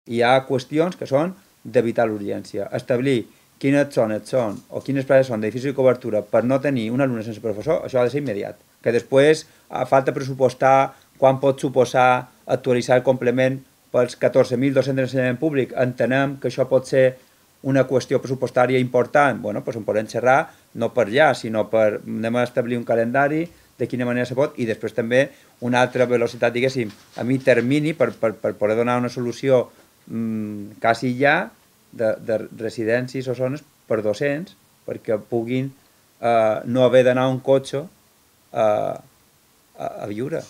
hi ha qüestions que són de vital urgència. Establir quines zones són o quines places són d'edificis de cobertura per no tenir un alumne sense professor, això ha de ser immediat. Que després falta pressupostar quan pot suposar actualitzar el complement pels 14.000 docents d'ensenyament públic. Entenem que això pot ser una qüestió pressupostària important. Bueno, doncs en podem xerrar, no per allà, sinó per anem a establir un calendari de quina manera se pot, i després també una altra velocitat, diguéssim, a mi termini per poder donar una solució quasi ja de residències o zones per docents perquè puguin no haver d'anar un cotxe a viure.